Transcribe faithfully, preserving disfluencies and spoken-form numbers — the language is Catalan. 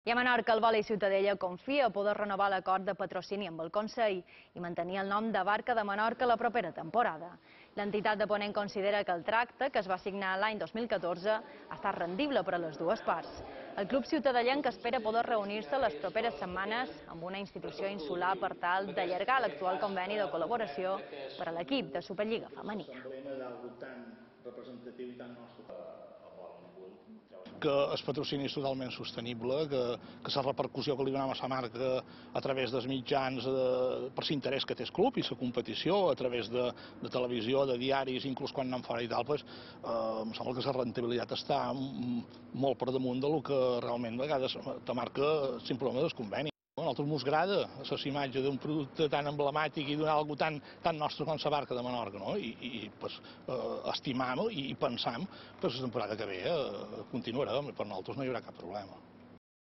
I a Menorca, el Vòlei Ciutadella confia poder renovar l'acord de patrocini amb el Consell i mantenir el nom de Barca de Menorca la propera temporada. L'entitat de Ponent considera que el tracte, que es va signar l'any dos mil catorze, ha estat rendible per a les dues parts. El club ciutadellenc espera poder reunir-se les properes setmanes amb una institució insular per tal d'allargar l'actual conveni de col·laboració per a l'equip de Superliga femenina. Que el patrocini és totalment sostenible, que, que la repercussió que li donem a la marca a través dels mitjans de, per l'interès que té el club i la competició, a través de, de televisió, de diaris, inclús quan anem fora i tal, pues, eh, em sembla que la rendibilitat està molt per damunt del que realment a vegades te marca simplement el conveni. A nosaltres ens agrada la imatge d'un producte tan emblemàtic i d'una cosa tan, tan nostre com la Barca de Menorca, no? I, i pues, eh, estimam i pensam que la temporada que ve eh, continuarà, per nosaltres no hi haurà cap problema.